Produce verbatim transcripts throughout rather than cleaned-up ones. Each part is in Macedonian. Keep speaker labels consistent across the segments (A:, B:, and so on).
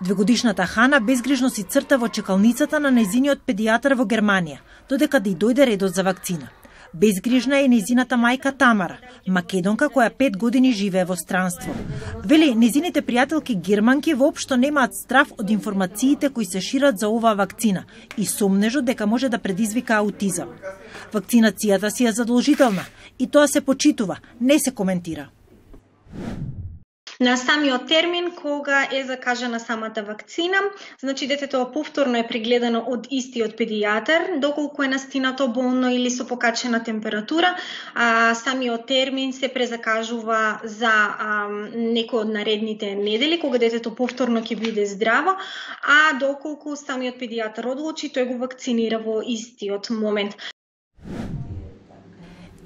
A: Двегодишната Хана безгрижно си црта во чекалницата на нејзиниот педијатар во Германија, додека да й дојде редот за вакцина. Безгрижна е нејзината мајка Тамара, македонка која пет години живее во странство. Вели, нејзините пријателки германки воопшто немаат страв од информациите кои се шират за оваа вакцина и сомнежот дека може да предизвика аутизам. Вакцинацијата си е задолжителна и тоа се почитува, не се коментира.
B: На самиот термин кога е закажана самата вакцина, значи детето повторно е прегледано од истиот педијатар, доколку е настинато болно или со покачена температура, а самиот термин се презакажува за а, некој од наредните недели, кога детето повторно ќе биде здраво, а доколку самиот педијатар одлучи, тој го вакцинира во истиот момент.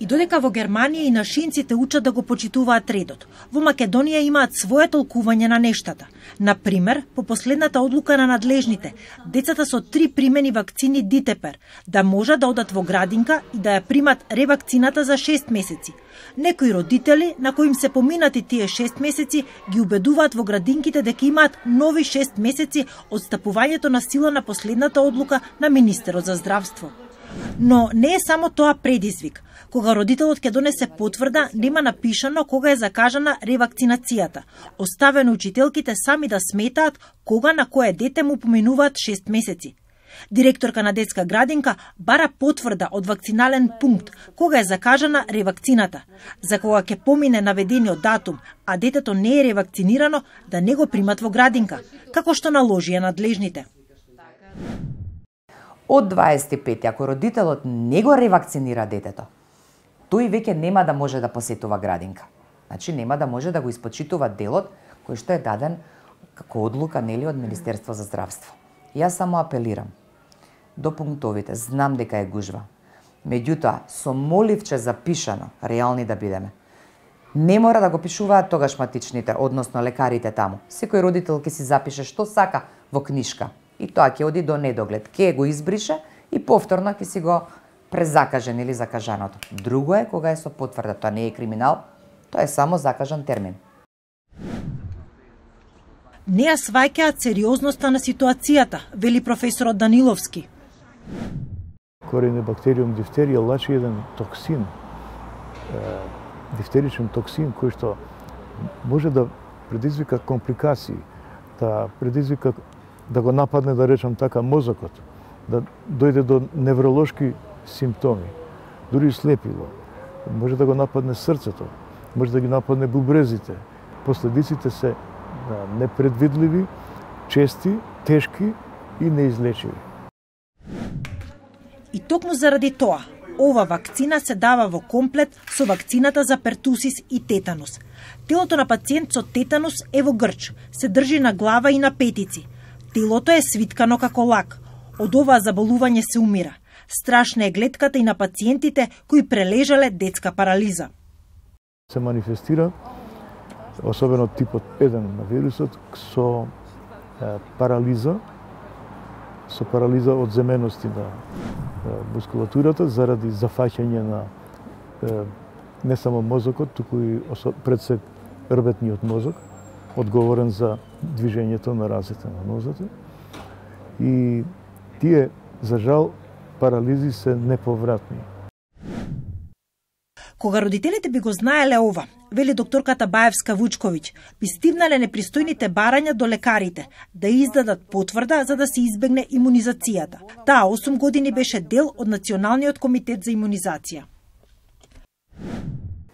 A: И додека во Германија и нашинците учат да го почитуваат редот, во Македонија имаат свое толкување на нештата. Например, по последната одлука на надлежните, децата со три примени вакцини Дитепер да можат да одат во градинка и да ја примат ревакцината за шест месеци. Некои родители, на кои им се поминати тие шест месеци, ги убедуваат во градинките дека имаат нови шест месеци од стапувањето на сила на последната одлука на Министерот за здравство. Но не е само тоа предизвик. Кога родителот ќе донесе потврда, нема напишано кога е закажана ревакцинацијата. Оставено учителките сами да сметаат кога на кое дете му поминуваат шест месеци. Директорка на детска градинка бара потврда од вакцинален пункт кога е закажана ревакцината. За кога ќе помине наведениот датум, а детето не е ревакцинирано, да не го примат во градинка, како што наложија надлежните.
C: Од дваесет и пет, ако родителот не го ревакцинира детето, тој веќе нема да може да посетува градинка. Значи нема да може да го испочитува делот кој што е даден како одлука нели од Министерство за здравство. Јас само апелирам до пунктовите, знам дека е гужва. Меѓутоа, со моливче запишано, реални да бидеме. Не мора да го пишуваат тогаш матичните, односно лекарите таму. Секој родител ќе си запише што сака во книшка и тоа ќе оди до недоглед. Ќе го избрише и повторно ќе си го презакажен или закажаното. Друго е кога е со потврда, тоа не е криминал, тоа е само закажан термин.
A: Не ја сваќаат сериозноста на ситуацијата, вели професорот Даниловски.
D: Коренебактериум дифтерија лачи еден токсин, дифтеричен токсин кој што може да предизвика компликации, да предизвика да го нападне, да речам така, мозокот, да дојде до невролошки симптоми, дури слепило, може да го нападне срцето, може да ги нападне бубрезите. Последиците се непредвидливи, чести, тешки и неизлечиви.
A: И токму заради тоа, ова вакцина се дава во комплет со вакцината за пертусис и тетанус. Телото на пациент со тетанус е во грч, се држи на глава и на петици. Телото е свиткано како лак. Од оваа заболување се умира. Страшна е гледката и на пациентите кои прележале детска парализа.
D: Се манифестира, особено типот еден на вирусот, со е, парализа, со парализа од земености на е, мускулатурата заради зафаќање на е, не само мозокот, туку и пред се рбетниот мозок, одговорен за движењето на разите на нозете. И тие, за жал, парализи се неповратни.
A: Кога родителите би го знаеле ова, вели докторката Баевска Вучковиќ, би стигнале непристојните барања до лекарите да издадат потврда за да се избегне имунизацијата. Таа осум години беше дел од Националниот комитет за имунизација.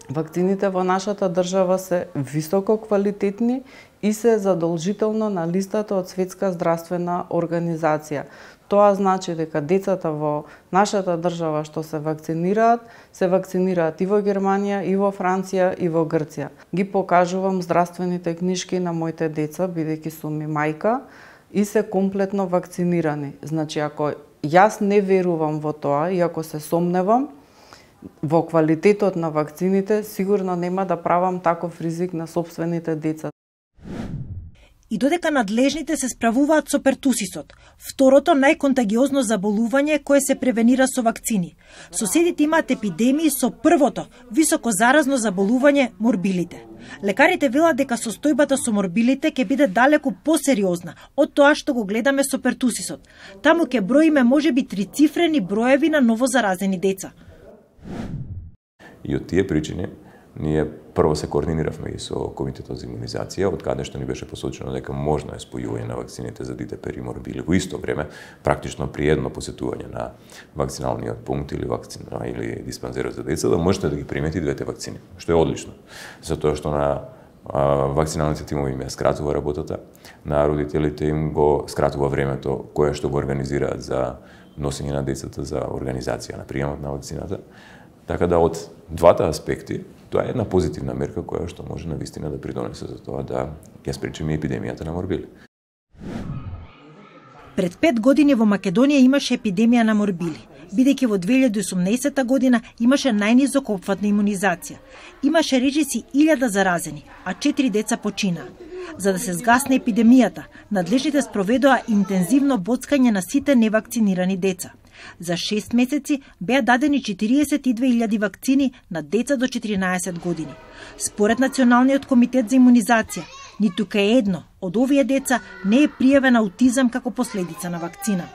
E: Вакцините во нашата држава се високо квалитетни и се задолжително на листата од Светска здравствена организација. Тоа значи дека децата во нашата држава што се вакцинираат, се вакцинираат и во Германија, и во Франција, и во Грција. Ги покажувам здравствените книшки на моите деца, бидејќи сум и мајка, и се комплетно вакцинирани. Значи, ако јас не верувам во тоа и ако се сомневам во квалитетот на вакцините, сигурно нема да правам таков ризик на сопствените деца.
A: и додека надлежните се справуваат со пертусисот, второто најконтагиозно заболување кое се превенира со вакцини. Соседите имаат епидемии со првото високо заразно заболување морбилите. Лекарите велат дека состојбата со морбилите ќе биде далеку посериозна од тоа што го гледаме со пертусисот. Таму ќе броиме можеби трицифрени броеви на новозаразени деца.
F: И од тие причини ние прво се координиравме и со Комитетот за имунизација, од каде што ни беше посочено дека можно е спојување на вакцините за дитепер и морбили. Во исто време, практично при едно посетување на вакциналниот пункт или вакцина или диспансерот за деца, да можете да ги примете двете вакцини, што е одлично. Затоа што на а, вакциналните тимови им ја скратува работата, на родителите им го скратува времето кое што го организираат за носење на децата за организација на приемот на вакцината. Така да од двата аспекти тоа е една позитивна мерка која што може навистина да придонесе за тоа да ја спречиме епидемијата на морбили.
A: Пред пет години во Македонија имаше епидемија на морбили, бидејќи во две илјади и осумнаесета година имаше најнизок опфатна имунизација. Имаше речиси илјада заразени, а четири деца починаа. За да се згасне епидемијата, надлежните спроведоа интензивно боцкање на сите невакцинирани деца. За шест месеци беа дадени четириесет и две илјади вакцини на деца до четиринаесет години. Според Националниот комитет за имунизација, ниту кај едно од овие деца не е пријавен аутизам како последица на вакцина.